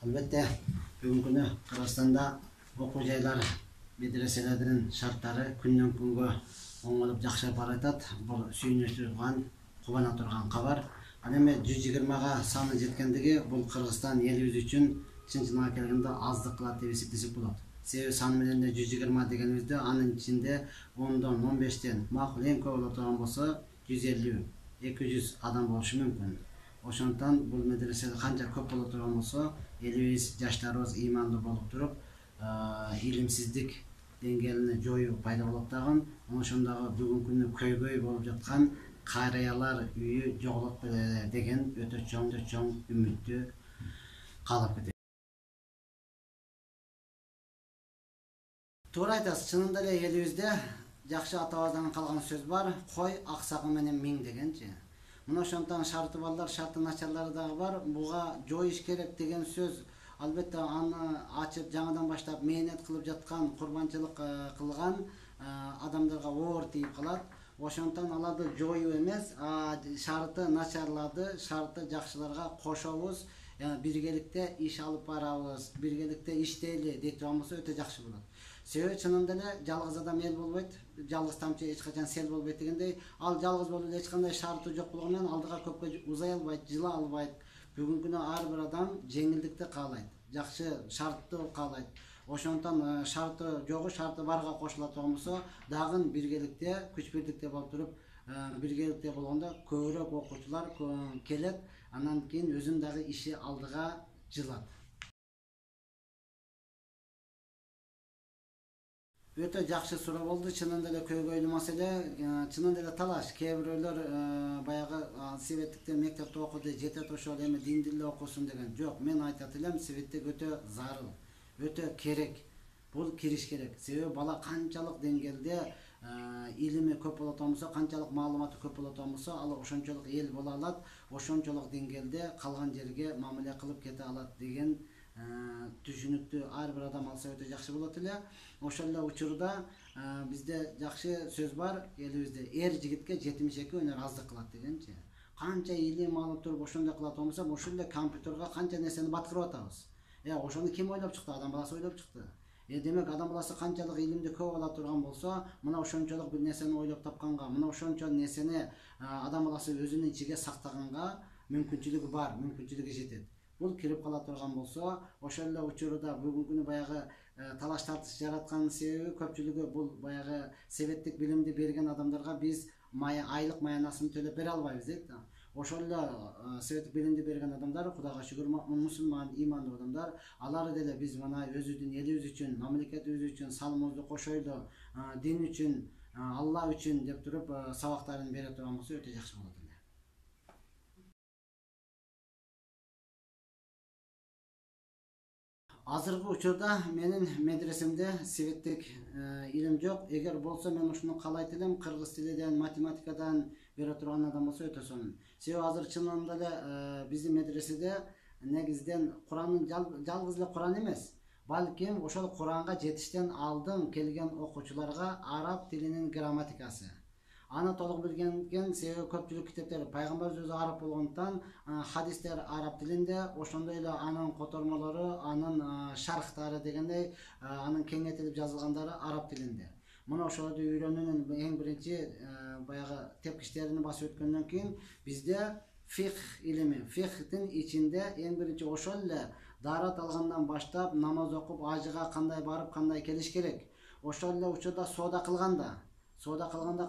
Albatta, bugungi kunda Qirg'izistonda o'quv joylari, medreselerдің шарттары күннен күнгө оңолуп жакшырып баратат. Бул сүйүнүч турган, кубана турган кабар. Ал эми 120га саны жеткендиги бул Кыргызстан элибиз үчүн чын-чынга келгенде аздык кылат деп эсептесек болот. Себеби саны менен 120 дегенибизде анын ичинде 10дон 15тен макул эң көп боло турган болсо 150-200 адам болушу мүмкүн. Ошондон бул медреселер канча көп боло турган болсо, элибиз жаштарыбыз ыймандуу болуп туруп, илимсиздик деңгээлине жоюу пайда болот дагы. Ошондогу бүгүнкү күнү көйгөй болуп жаткан карыялар үйү жоголот деген өтө чоң үмүттү каалап кетет. Туура айтасыз, чынында эле элибизде жакшы атабыздан калган сөз бар, кой аксагы менен миң дегенчи. Мына ошондон шарты балдар, шарты начарлары дагы бар. Буга жоюш керек деген сөз албетте аны ачып жаңадан баштап мээнет кылып жаткан, курбанчылык кылган адамдарга оор тийип калат. Ошондон аларды жоюу эмес, шарты начарларды, шарты жакшыларга кошобуз, биргеликте иш алып барабыз, биргеликте иштейли дейт турган болсо өтө жакшы болот. Себеби чынында эле жалгыз адам эл болбойт, жалгыз тамчы эч качан сел болбойт дегендей, ал жалгыз болуп эле эч кандай шарты жок болгону менен алдыга көпкө узай албайт, жыла албайт. Бүгүнкү күнү ар бир адам жеңилдикти каалайт, жакшы шартты каалайт. Ошондон шарты жогу, шарты барга кошула турган болсо, дагы биргеликте, күч бирдикте болуп туруп, биргеликте болгондо көбүрөөк окуучулар келет, анан кийин өзүн дагы иши алдыга жылат. Өтө жакшы суроо болду. Чынында эле көйгөйлүү маселе, чынында эле талаш. Кээ бирөөлөр баягы светтикте мектепте окуду, жетет ошол эми динди эле окусун деген. Жок, мен айтат элем, светтик өтө зарыл, өтө керек. Бул кириш керек. Себеби бала канчалык деңгээлде илими көп боло турган болсо, канчалык маалыматы көп боло турган болсо, ал ошончолук эл боло алат, ошончолук деңгээлде калган жерге мамиле кылып кете алат деген түшүнүктү ар бир адам алса өтө жакшы болот эле. Ошол эле учурда бизде жакшы сөз бар элибизде: эр жигитке 72 өнөр аздык кылат дегенчи. Канча илим алып туруп ошондой кылат болсо, ошол эле компьютерге канча нерсени баткырып атабыз. Ошону ким ойлоп чыкты? Адам баласы ойлоп чыкты. Демек адам баласы канчалык илимди көп ала турган болсо, мына ошончолук бир нерсени ойлоп тапканга, мына ошончо нерсени адам баласы өзүнүн ичиге сактаганга мүмкүнчүлүгү бар, мүмкүнчүлүгү жетет. Бул кирип кала турган болсо, ошол эле учурда бүгүнкү күнү баягы талаш тартыш жараткан себеби көпчүлүгү бул баягы советтик билимди берген адамдарга биз айлык маянасын төлөп бере албайбыз дейт. Ошол эле советтик билимди берген адамдар, Кудайга шүгүр, мусулман, ыймандуу адамдар, алар деле биз мына өзүбүздүн элибиз үчүн, мамлекетибиз үчүн салымыбызды кошойлу, дин үчүн, Алла үчүн деп туруп сабактарын бере турган болсо өтө жакшы болот эле. Азыркы учурда менин медресемде светтик илим жок. Эгер болсо мен ушуну каалайт элем, кыргыз тилиден, математикадан бере турган адам болсо өтө сонун. Себеби азыр чынында эле биздин медреседе негизден Куранын жалгыз эле Куран эмес, балким ошол Куранга жетиштен алдын келген окуучуларга араб тилинин грамматикасы, аны толук билген, себеби көпчүлүк китептер пайгамбарыбыз өзү араб болгондуктан хадистер араб тилинде, ошондой эле анын котормолору, анын шархтары дегендей, анын кеңейтилип жазылгандары араб тилинде. Мына ошолорду үйрөнүүнүн эң биринчи баягы тепкичтерин басып өткөндөн кийин бизде фикх илими, фикхтин ичинде эң биринчи ошол эле даарат алгандан баштап намаз окуп, ажыга кандай барып, кандай келиш керек. Ошол эле учурда соода кылганда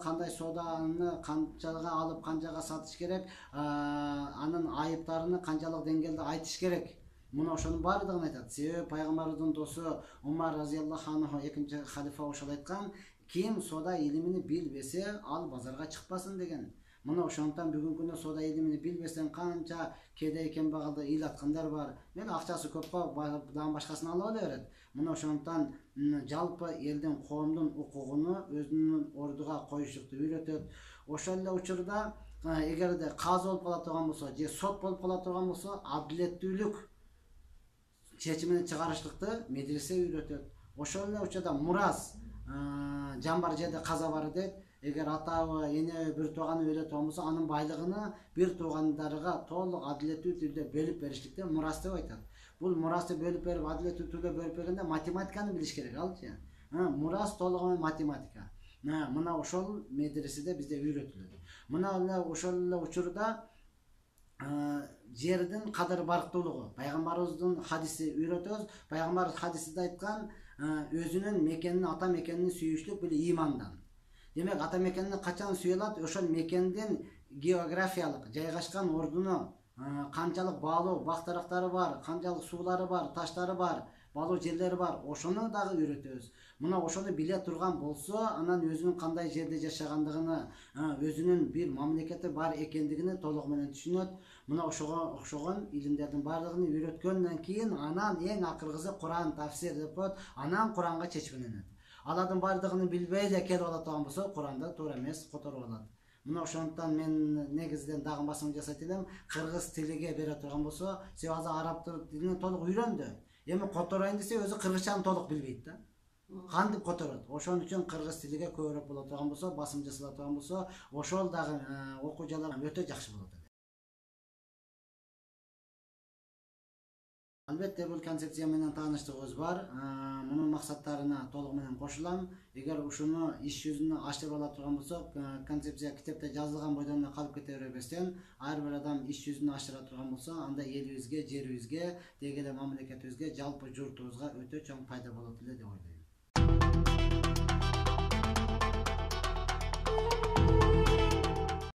кандай сооданы канчага алып, канчага сатыш керек, анын айыптарını канчалык деңгээлде айтыш керек. Мына ошонун баардыгын айтат. Себеби пайгамбарыбыздын досу Умар разияллаху анху, экинчи халифа, ошол айткан: ким соода илимини билбесе, ал базарга чыкпасын деген. Мына ошондон бүгүнкү күндө соода илимини билбестен канча кедей кембагалды ыйлаткандар бар. Мен акчасы көп дагы башкасын ала берет. Мына ошондон жалпы элдин, коомдун укугуну өзүнүн ордуга коюштукту үйрөтөт. Ошол эле учурда эгерде казы болуп кала турган болсо, же сот болуп кала турган болсо, адилеттүүлүк чечимин чыгарыштыкты медресе үйрөтөт. Ошол эле учурда мурас, жамбар жерде каза бар дейт. эгер атабы, энеби, бир тууганы өлө турган болсо, анын байлыгын бир туугандарга толук адилеттүү түрдө бөлүп бериштикти мурас деп айтат. Бул мурасты бөлүп берип, адилеттүү түрдө бөлүп бергенде математиканы билиш керек, алчы. Мурас толугу менен математика. Мына ошол медреседе бизде үйрөтүлөт. Мына эле ошол эле учурда жердин кадыр барктуулугу, пайгамбарыбыздын хадиси үйрөтөбүз. Пайгамбарыбыз хадисинде айткан, өзүнүн мекенин, ата мекенин сүйүштүк бул имандан. Демек, ата мекенин качан сүйө алат? Ошол мекендин географиялык жайгашкан ордуну, канчалык баалуу бак-дарактары бар, канчалык суулары бар, таштары бар, баалуу жерлери бар, ошону дагы үйрөтөбүз. Мына ошону биле турган болсо, анан өзүнүн кандай жерде жашагандыгын, өзүнүн бир мамлекети бар экендигин толугу менен түшүнөт. Мына ошого окшогон илимдердин баардыгын үйрөткөндөн кийин, анан эң акыркысы Куран тафсир деп коет, анан Куранга чечмеленет. Алардын баардыгын билбей эле келип ала турган болсо, Куранда туура эмес которуп алат. Мына ошондуктан мен негизинен дагы басым жасайт элем, кыргыз тилиге бере турган болсо, себеби азыр араб тилин толук үйрөндү. Эми которойн десе, өзү кыргызчаны толук билбейт да. Кантип которот? Ошон үчүн кыргыз тилиге көбүрөөк боло турган болсо, басым жасала турган болсо, ошол дагы окуу жалар өтө жакшы болот. Албетте бул концепция менен тааныштыгыбыз бар. Мунун максаттарына толугу менен кошулам. Эгер ушуну иш жүзүнө аштырып ала турган болсок, концепция китепте жазылган бойдон эле калып кете бербестен, ар бир адам иш жүзүнө аштыра турган болсо, анда элибизге, жерибизге, деги эле мамлекетибизге, жалпы журтубузга өтө чоң пайда болот эле деп ойлойм.